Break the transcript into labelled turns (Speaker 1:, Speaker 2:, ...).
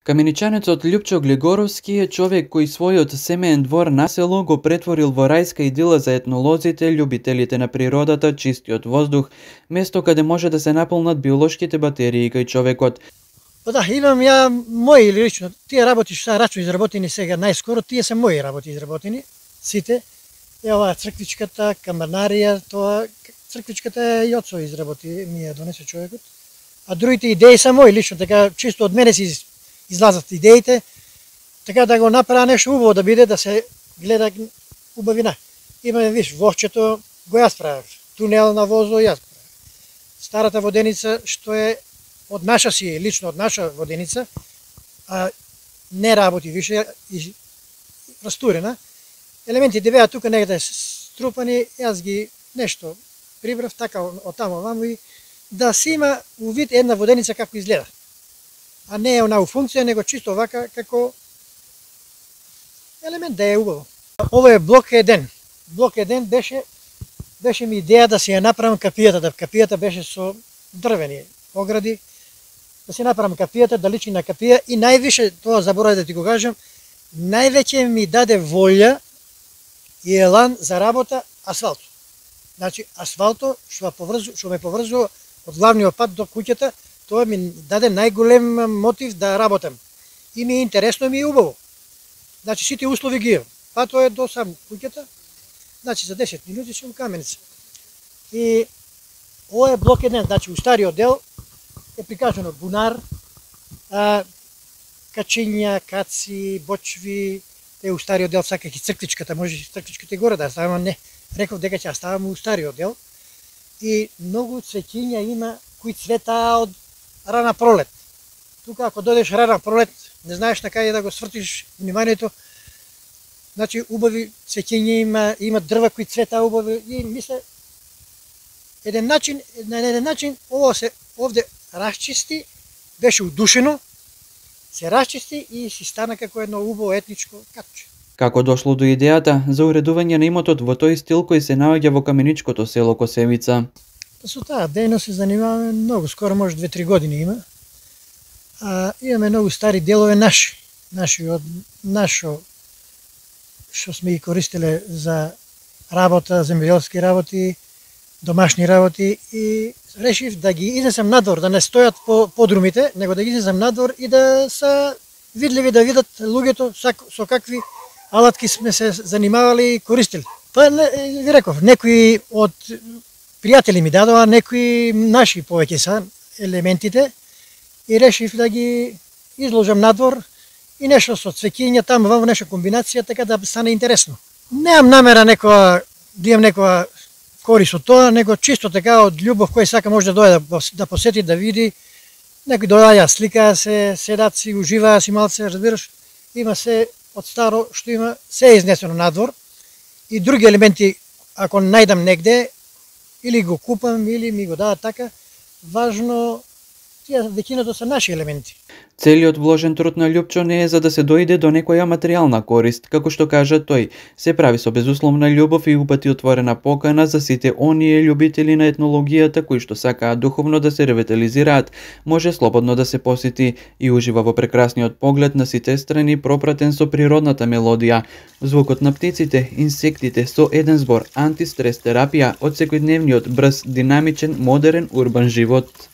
Speaker 1: Каменичанецот Љупчо Глигоровски е човек кој својот семеен двор на село го претворил во рајска идила за етнолозите, љубителите на природата, чистиот воздух, место каде може да се наполнат биолошките батерии кај човекот.
Speaker 2: Па да, имам ја мои лично, тие работи што рачу изработени сега најскоро, тие се мои работи изработени, сите. Е оваа црквичката, камарнарија, тоа црквичката е Јоцо изработи, ми ја донесе човекот. А другите идеи се мои лично, така чисто од мене си излазат идеите, така да го направа нешто убаво да биде, да се гледа убавина. Имаме, виж, возчето го јас правев, тунел на возо јас правев. Старата воденица што е од наша си, лично од наша воденица, а не работи више, растурена. Елементите беа тука негде струпани, јас ги нешто прибрав така од тамо ваму и да си има увид една воденица како изгледа. А не е онаа функција, него чисто вака како елемент да е убаво. Ова е блок 1. Блок 1 беше ми идеја да си ја направам капијата, да капијата беше со дрвени огради, да си направам капијата, да личи на капија и највише, тоа заборавив да ти го кажам, највеќе ми даде волја и елан за работа асфалто. Значи, асфалто што ме поврзува од главниот пат до куќата, тоа ми даде најголем мотив да работам. И ми е интересно, ми е убаво. Значи, сите услови ги имам. Патот е до сам куќата, значи за 10 минути сум Каменица. И ова е блок 1, значи у стариот дел е прикажано бунар, качиња, каци, бочви, у стариот дел саках и црквичката, може и црквичката и горе да ставам, не. Реков дека ќе ставам у стариот дел. И многу цвеќиња има кои цветаа од рана пролет. Тука ако дојдеш рана пролет, не знаеш на каде да го свртиш вниманието. Значи убави цвеќиња има дрва кои цветаа убави и мисле на еден начин ова се овде расчисти, беше удушено, се расчисти и си стана како едно убаво етничко катче.
Speaker 1: Како дошло до идејата за уредување на имотот во тој стил кој се наоѓа во каменичкото село Косевица?
Speaker 2: Со таа дејност се занимаваме многу, скоро може 2-3 години има. Имаме многу стари делови наши од нашо што сме ги користеле за работа, земјоделски работи, домашни работи и решив да ги изнесам надвор, да не стојат по подрумите, него да ги изнесам надвор и да се видливи, да видат луѓето со какви алатки сме се занимавали и користели. Па ви реков, некои од пријатели ми дадоа, некои наши повеќе са елементите и решив да ги изложам надвор и нешто со цвеќиња таму во нешто комбинација, така да стане интересно. Немам намера да имам некоја корист од тоа, него чисто така од љубов кој сака може да дојде да посети, да види. Некои доаѓа, сликаа се, седат си, уживаа си малце, разбираш. Има се од старо што има, се е изнесено надвор и други елементи ако најдам негде или го купам или ми го дадат така, важно тие веќината се наши елементи.
Speaker 1: Целиот вложен труд на Љупчо не е за да се дојде до некоја материјална корист, како што кажа тој, се прави со безусловна љубов и упати отворена покана за сите оние љубители на етнологијата кои што сакаат духовно да се ревитализираат, може слободно да се посети и ужива во прекрасниот поглед на сите страни пропратен со природната мелодија, звукот на птиците, инсектите со еден збор, антистрес терапија од секојдневниот брз, динамичен, модерен урбан живот.